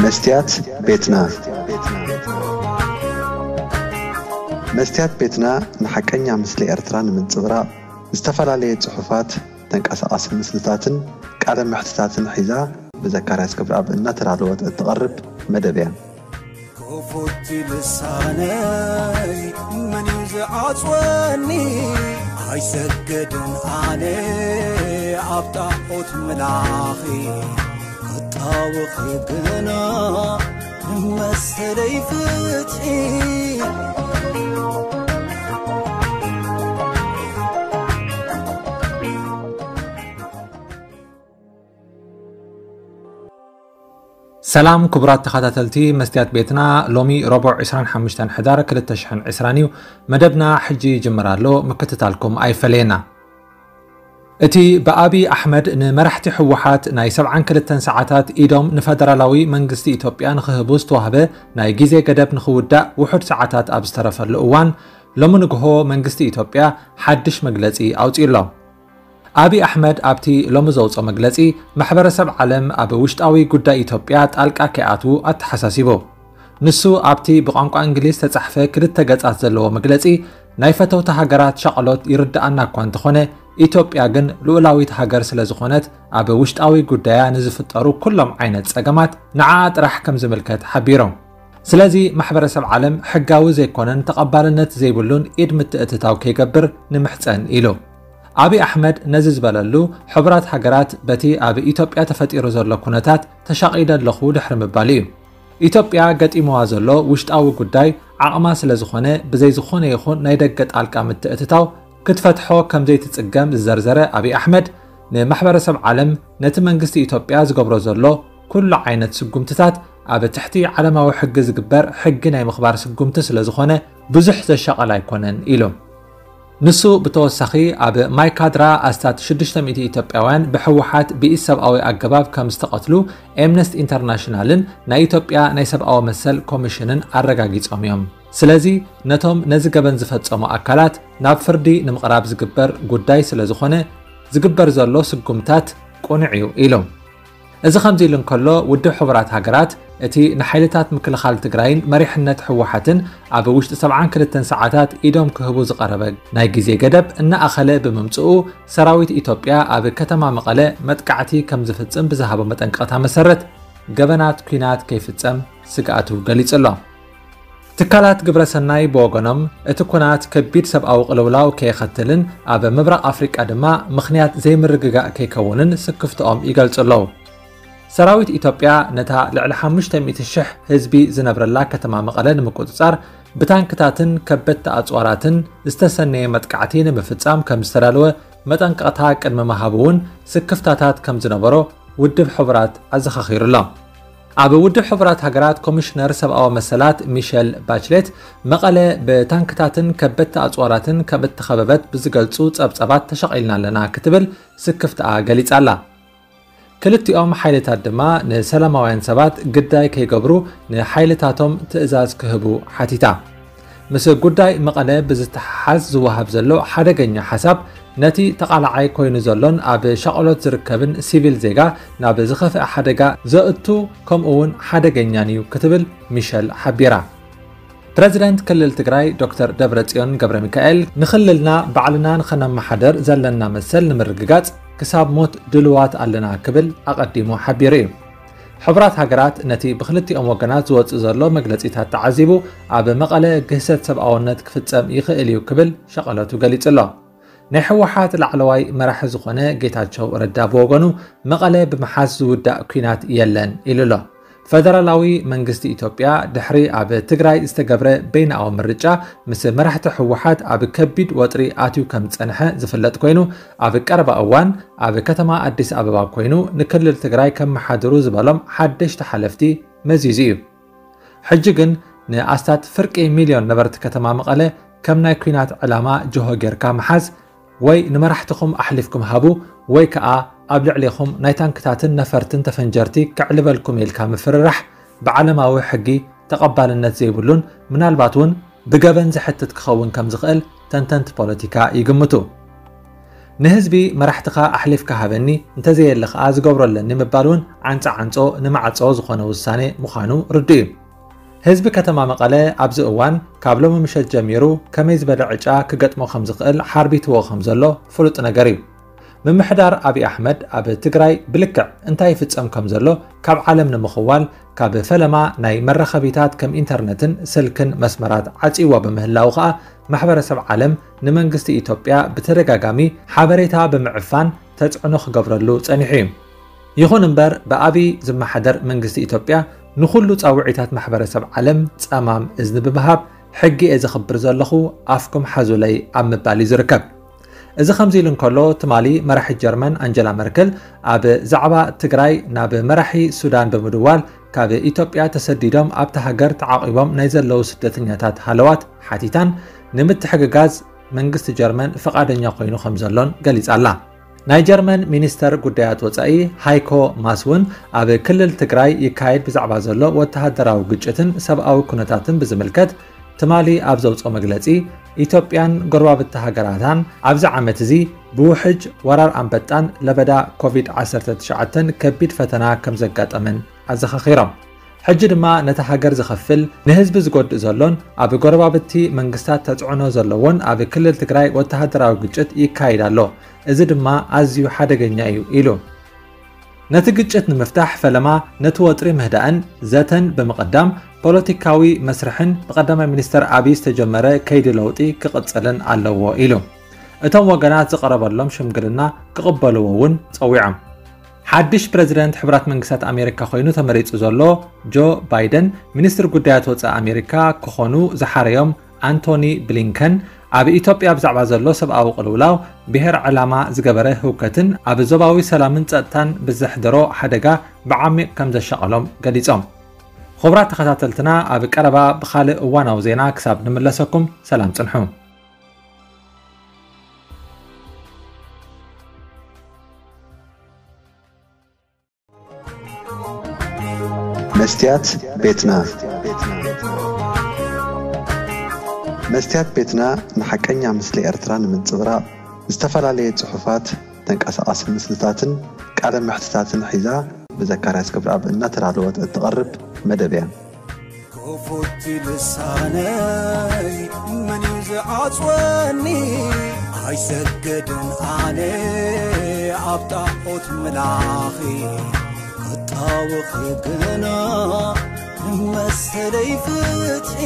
መስትያት ቤትና። መስትያት ቤትና ንሓቀኛ ምስሊ ኤርትራ ንምንጽብራቕ ዝተፈላለየ ጽሑፋት፣ ተንቀሳቓሲ ምስልታትን ቃለ መሕትታትን ሒዛ ብዘካርያስ ክብረኣብ እናተዳለወት እትቐርብ መደብ እያ። ክፉት ልሳነይ መን እዩ ዝዓጽወኒ? ኣይሰግድን ኣነ ኣብ ጣዖት ምላኺ፣ ክጣወኺ ግና ንመሰለይ ፍትሒ። ሰላም ክቡራት ተኸታተልቲ መስትያት ቤትና፣ ሎሚ ረቡዕ ዕስራን ሓሙሽተን ሕዳር ክልተ ሽሕን ዕስራን እዩ። መደብና ሕጂ ይጅምር ኣሎ፣ ምክትታልኩም ኣይፈለየና። እቲ ብኣብይ ኣሕመድ ንመራሕቲ ህወሓት ናይ ሰብዓን ክልተን ሰዓታት ኢዶም ንፈደራላዊ መንግስቲ ኢትዮጵያ ንኽህቡ ዝተዋህበ ናይ ግዜ ገደብ ንኽውዳእ ውሑድ ሰዓታት ኣብ ዝተረፈሉ እዋን፣ ሎሚ ንግሆ መንግስቲ ኢትዮጵያ ሓድሽ መግለጺ ኣውጺኡ ኣሎ። ኣብይ ኣሕመድ ኣብቲ ሎሚ ዘውፅኦ መግለፂ፣ ማሕበረሰብ ዓለም ኣብ ውሽጣዊ ጉዳይ ኢትዮጵያ ጣልቃ ከይኣትዉ ኣተሓሳሲቡ። ንሱ ኣብቲ ብቋንቋ እንግሊዝ ዝተጻሕፈ ክልተ ገጻት ዘለዎ መግለጺ፣ ናይ ፈተውቲ ሃገራት ሻቕሎት ይርድኣና እኳ እንተኾነ፣ ኢትዮጵያ ግን ልኡላዊት ሃገር ስለ ዝኾነት፣ ኣብ ውሽጣዊ ጉዳያ ንዝፍጠሩ ኩሎም ዓይነት ጸገማት ንዓኣ ጥራሕ ከም ዝምልከት ሓቢሩ። ስለዚ ማሕበረሰብ ዓለም ሕጋዊ ዘይኮነን ተቐባልነት ዘይብሉን ኢድ ምትእትታው ከይገብር ንምሕጸን ኢሉ። ኣብይ ኣሕመድ ነዚ ዝበለሉ፣ ሕቡራት ሃገራት በቲ ኣብ ኢትዮጵያ ተፈጢሩ ዘሎ ኩነታት ተሻቒለ ኣለኹ ድሕሪ ምባሉ እዩ። ኢትዮጵያ ገጢምዋ ዘሎ ውሽጣዊ ጉዳይ ዓቕማ ስለ ዝኾነ፣ ብዘይ ዝኾነ ይኹን ናይ ደገ ጣልቃ ምትእትታው ክትፈትሖ ከም ዘይትጽገም ዝዘርዘረ ኣብይ ኣሕመድ፣ ንማሕበረሰብ ዓለም ነቲ መንግስቲ ኢትዮጵያ ዝገብሮ ዘሎ ኩሉ ዓይነት ስጉምትታት ኣብ ትሕቲ ዓለማዊ ሕጊ ዝግበር ሕጊ ናይ ምኽባር ስጉምቲ ስለ ዝኾነ፣ ብዙሕ ዘሻቐል ኣይኮነን ኢሉ። ንሱ ብተወሳኺ፣ ኣብ ማይካድራ ኣስታት ሽዱሽተ ሚእቲ ኢትዮጵያውያን ብህወሓት ብኢሰብኣዊ ኣገባብ ከም ዝተቐትሉ ኤምነስቲ ኢንተርናሽናልን ናይ ኢትዮጵያ ናይ ሰብኣዊ መሰል ኮሚሽንን ኣረጋጊጾም እዮም። ስለዚ ነቶም ነዚ ገበን ዝፈጸሙ ኣካላት ናብ ፍርዲ ንምቕራብ ዝግበር ጉዳይ ስለ ዝኾነ፣ ዝግበር ዘሎ ስጉምታት ቅኑዕ እዩ ኢሉ። እዚ ከምዚ ኢሉ እንከሎ፣ ውድብ ሕቡራት ሃገራት እቲ ንሓይልታት ምክልኻል ትግራይን መሪሕነት ህወሓትን ኣብ ውሽጢ ሰብዓን ክልተን ሰዓታት ኢዶም ክህቡ ዝቐረበ ናይ ግዜ ገደብ እናኣኸለ ብምምጽኡ፣ ሰራዊት ኢትዮጵያ ኣብ ከተማ መቐለ መጥቃዕቲ ከም ዝፍጽም ብዝሃቦ መጠንቀቕታ መሰረት፣ ገበናት ኲናት ከይፍጸም ስግኣቱ ገሊጹ ኣሎ። ትካላት ግብረ ሰናይ ብወገኖም፣ እቲ ኲናት ከቢድ ሰብኣዊ ቅልውላው ከየኸትልን ኣብ ምብራቕ ኣፍሪቃ ድማ ምኽንያት ዘይምርግጋእ ከይከውንን ስክፍትኦም ይገልጹ ኣለዉ። ሰራዊት ኢትዮጵያ ነታ ልዕሊ ሓሙሽተ ሚእቲ ሽሕ ህዝቢ ዝነብረላ ከተማ መቐለ ንምቁጽጻር ብታንክታትን ከበድቲ ኣጽዋራትን ዝተሰነየ መጥቃዕቲ ንምፍጻም ከም ዝተዳለወ መጠንቀቕታ ቅድሚ ምሃቡ እውን ስክፍታታት ከም ዝነበሮ ውድብ ሕቡራት ኣዘኻኺሩ ኣሎ። ኣብ ውድብ ሕቡራት ሃገራት ኮሚሽነር ሰብኣዊ መሰላት ሚሸል ባችሌት፣ መቐለ ብታንክታትን ከበድቲ ኣጽዋራትን ከም እተኸበበት ብዝገልጹ ጸብጻባት ተሻቒልና ኣለና ክትብል ስክፍትኣ ገሊጻ ኣላ። ክልቲኦም ሓይልታት ድማ ንሰላማውያን ሰባት ግዳይ ከይገብሩ ንሓይልታቶም ትእዛዝ ክህቡ ሓቲታ። ምስ ጉዳይ መቐለ ብዝተሓሓዝ ዝወሃብ ዘሎ ሓደገኛ ሓሳብ፣ ነቲ ተቓላዓይ ኮይኑ ዘሎን ኣብ ሻቕሎት ዝርከብን ሲቪል ዜጋ ናብ ዝኸፍአ ሓደጋ ዘእቱ፣ ከምኡ እውን ሓደገኛን እዩ ክትብል ሚሸል ሓቢራ። ፕረዚደንት ክልል ትግራይ ዶክተር ደብረጽዮን ገብረ ሚካኤል፣ ንክልልና ባዕልና ንኸነመሓደር ዘለና መሰል ንምርግጋጽ ክሳብ ሞት ድልዋት ኣለና ክብል ኣቐዲሙ ሓቢሩ እዩ። ሕቡራት ሃገራት ነቲ ብክልቲኦም ወገናት ዝወጽእ ዘሎ መግለጺታት ተዓዚቡ፣ ኣብ መቐለ ግህሰት ሰብኣውነት ክፍጸም ይኽእል እዩ ክብል ሻቐለቱ ገሊጹ ኣሎ። ናይ ህወሓት ላዕለዋይ መራሒ ዝኾነ ጌታቸው ረዳ ብወገኑ፣ መቐለ ብምሓዝ ዝውዳእ ኲናት የለን ኢሉ ኣሎ። ፈደራላዊ መንግስቲ ኢትዮጵያ ድሕሪ ኣብ ትግራይ ዝተገብረ በይናዊ ምርጫ ምስ መራሕቲ ህወሓት ኣብ ከቢድ ወጥሪ ኣትዩ ከም ዝጸንሐ ዝፍለጥ ኮይኑ፣ ኣብ ቀረባ እዋን ኣብ ከተማ ኣዲስ ኣበባ ኮይኑ ንክልል ትግራይ ከመሓድሩ ዝበሎም ሓደሽቲ ሓለፍቲ መዚዙ እዩ። ሕጂ ግን ንኣስታት ፍርቂ ሚልዮን ነበርቲ ከተማ መቐለ ከም ናይ ኲናት ዕላማ ጅሆ ጌርካ ምሓዝ፣ ወይ ንመራሕትኹም ኣሕሊፍኩም ሃቡ፣ ወይ ከኣ ኣብ ልዕሌኹም ናይ ታንክታትን ነፈርትን ተፈንጀርቲ ከዕልበልኩም ኢልካ ምፍርራሕ ብዓለማዊ ሕጊ ተቐባልነት ዘይብሉን ምናልባት እውን ብገበን ዘሕትት ክኸውን ከም ዝኽእል ተንተንቲ ፖለቲካ ይግምቱ። ንህዝቢ መራሕትኻ ኣሕሊፍካ ሃበኒ፣ እንተዘየለ ከኣ ዝገብሮ ኣለኒ ምባል እውን ዓንጸ ዓንጾ ንማዕጾ ዝኾነ ውሳኔ ምዃኑ ርዱእ እዩ። ህዝቢ ከተማ መቐለ ኣብዚ እዋን ካብ ሎሚ ምሸት ጀሚሩ ከመይ ዝበለ ዕጫ ክገጥሞ ከም ዝኽእል ሓርቢትዎ ከም ዘሎ ፍሉጥ ነገር እዩ። ምምሕዳር ኣብይ ኣሕመድ ኣብ ትግራይ ብልክዕ እንታይ ይፍጸም ከም ዘሎ ካብ ዓለም ንምኽዋል ካብ ፈለማ ናይ መራኸቢታት ከም ኢንተርነትን ስልክን መስመራት ዓጽይዎ ብምህላው ከኣ ማሕበረሰብ ዓለም ንመንግስቲ ኢትዮጵያ ብተደጋጋሚ ሓበሬታ ብምዕፋን ተጽዕኖ ክገብረሉ ጸኒሑ እዩ። ይኹን እምበር ብኣብይ ዝመሓደር መንግስቲ ኢትዮጵያ ንኹሉ ጻውዒታት ማሕበረሰብ ዓለም ጸማም እዝኒ ብምሃብ ሕጊ እየ ዘኽብር ዘለኹ ኣፍኩም ሓዙለይ ኣብ ምባል እዩ ዝርከብ። እዚ ከምዚ ኢሉ እንከሎ ትማሊ መራሒት ጀርመን ኣንጀላ መርክል ኣብ ዛዕባ ትግራይ ናብ መራሒ ሱዳን ብምድዋል ካብ ኢትዮጵያ ተሰዲዶም ኣብታ ሃገር ተዓቒቦም ናይ ዘለዉ ስደተኛታት ሃለዋት ሓቲታን ንምትሕግጋዝ መንግስቲ ጀርመን ፍቓደኛ ኮይኑ ከም ዘሎን ገሊጻ ኣላ። ናይ ጀርመን ሚኒስተር ጉዳያት ወጻኢ ሃይኮ ማስ እውን ኣብ ክልል ትግራይ ይካየድ ብዛዕባ ዘሎ ወተሃደራዊ ግጭትን ሰብኣዊ ኩነታትን ብዝምልከት ትማሊ ኣብ ዘውፅኦ መግለፂ ኢትዮጵያን ጎረባብቲ ሃገራታን ኣብዚ ዓመት እዚ ብውሕጅ ወራር ኣንበጣን ለበዳ ኮቪድ ዓሰርተ ትሽዓተ ከቢድ ፈተና ከም ዘጋጠመን ኣዘኻኺሮም። ሕጂ ድማ ነታ ሃገር ዝኸፍል ንህዝቢ ዝጎድእ ዘሎን ኣብ ጎረባብቲ መንግስታት ተፅዕኖ ዘለዎን ኣብ ክልል ትግራይ ወተሃደራዊ ግጭት ይካይድ ኣሎ። እዚ ድማ ኣዝዩ ሓደገኛ እዩ ኢሉ። ነቲ ግጭት ንምፍታሕ ፈለማ ነቲ ወጥሪ ምህዳእን ዘተን ብምቕዳም ፖለቲካዊ መስርሕን ብቀዳማይ ሚኒስተር ኣብይ ዝተጀመረ ከይዲ ለውጢ ክቕጽልን ኣለዎ ኢሉ። እቶም ወገናት ዝቐረበሎም ሽምግልና ክቕበልዎ እውን ጸዊዖም። ሓድሽ ፕረዚደንት ሕቡራት መንግስታት ኣሜሪካ ኮይኑ ተመሪጹ ዘሎ ጆ ባይደን ሚኒስትሪ ጉዳያት ወጻኢ ኣሜሪካ ክኾኑ ዝሓረዮም ኣንቶኒ ብሊንከን ኣብ ኢትዮጵያ ብዛዕባ ዘሎ ሰብኣዊ ቅልውላው ብሄር ዕላማ ዝገበረ ህውከትን ኣብ ዞባዊ ሰላምን ጸጥታን ብዘሕደሮ ሓደጋ ብዓሚቕ ከም ዘሻቐሎም ገሊጾም። ክቡራት ተኸታተልትና ኣብ ቀረባ ብኻልእ እዋናዊ ዜና ክሳብ ንምለሰኩም ሰላም ጽንሑ። መስትያት ቤትና። መስትያት ቤትና ንሓቀኛ ምስሊ ኤርትራ ንምንጽብራቕ ዝተፈላለየ ጽሑፋት፣ ተንቀሳቓሲ ምስልታትን ቃለ መሕትታትን ሒዛ ብዘካርያስ ገብረኣብ እናተዳለወት እትቐርብ መደብ እያ። ክፉት ልሳነይ መን እዩ ዝዓጽወኒ? ኣይሰግድን ኣነ ኣብ ጣዖት ምላኺ፣ ክጣወኺ ግና ንመሰለይ ፍትሒ።